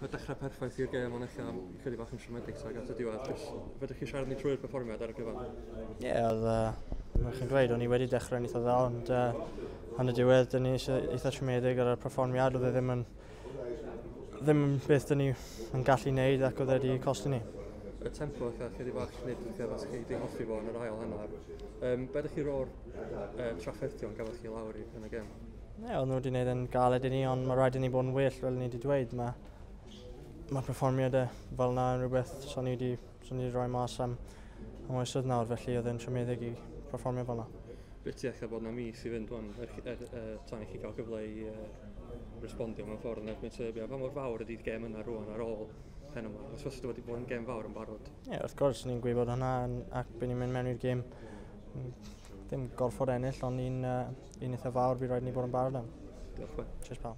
Y dechrau perffaith i'r gêm, ond ella chydig bach yn siomedig tuag at y diwedd. Jyst, fedrwch chi siarad ni trwy'r perfformiad ar y gyfan? Ie, yeah, oedd, mae'n chi'n dweud, o'n i wedi dechrau'n eitha dda, ond yn y diwedd, dyn ni eitha siomedig ar y perfformiad, oedd e ddim yn ddim yn beth dyn ni yn gallu wneud ac oedd e wedi costi ni. Y tempo eitha chydig bach nid eitha fas chi wedi hoffi fo yn yr ail hanner. Be ydych chi ro'r trafferthion gafodd chi lawr i yn y gêm? Ie, yeah, oedd nhw wedi gwneud yn galed i ni, ond mae rhaid i ni bod yn well, fel ni wedi dweud. Mae perfformiadau fel yna yn rhywbeth so ni wedi, so ni wedi rhoi mas am oesoedd nawr, felly oedd e'n siomedig i perfformio fel yna. Beth ti eich bod na mis i fynd wan, tan i chi gael gyfle i respondio mewn ffordd yn erbyn Serbia. Pa mor fawr ydy'r gêm yna rwan ar ôl pen yma? Os fysa wedi bod yn gêm fawr yn barod? Ie, yeah, wrth gwrs, ni'n gwybod hwnna ac by ni'n mynd mewn i'r gêm ddim gorfod ennill, ond un eitha fawr bydd rhaid ni bod yn barod am. Diolch, Ben. Cheers, pal.